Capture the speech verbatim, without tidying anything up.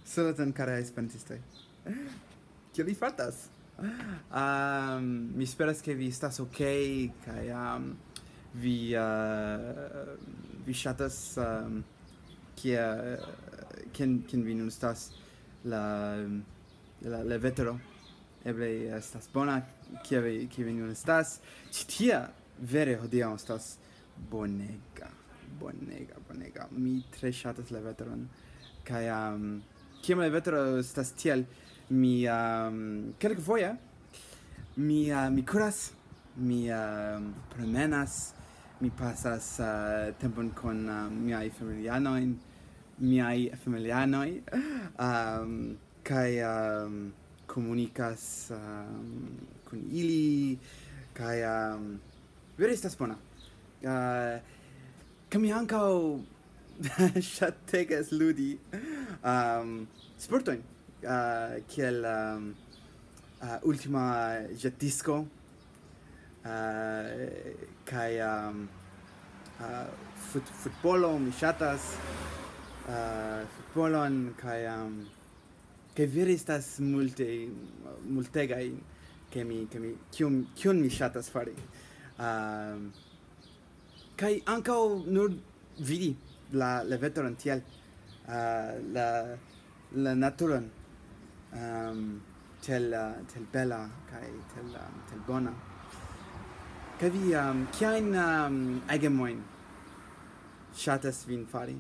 Saluton, karaj esperantistoj. Kiel vi fartas? Um, mi esperas, ke vi estas ok, kaj um, vi, uh, vi ŝatas, um, kia, kien, kien vi nun estas, la, la, la vetero. Eble estas bona, kia vi, kia vi nun estas. Ĉi tie vere hodiaŭ estas bonega, bonega, bonega. Mi tre ŝatas la veteron. Kaj, um, kiam la vetero estas tiel, mi, um, kelkfoje, mi, uh, mi kuras, mi, um, promenas, mi pasas, uh, tempon kun, uh, miaj familianoj, miaj familianoj, um, kaj, um, komunikas, um, kun ili, kaj, um, vere estas bona. Uh, kaj mi ankaŭ ŝategas ludi, um, sportojn, uh, kiel, um, uh, Ultima Ĵetdisko, uh, kaj, um, uh, fut-, futbolo, mi ŝatas, uh, futbolon, kaj, um, kaj vere estas multe, multegaj, ke mi, ke mi, kiun, kiun mi ŝatas fari. Um, kaj ankaŭ nur vidi la, la veteron tiel, uh, la, la naturon, um, tiel, uh, tiel bela kaj tiel, um, tiel bona. Kaj vi, um, kiajn, um, agemojn ŝatas vin fari?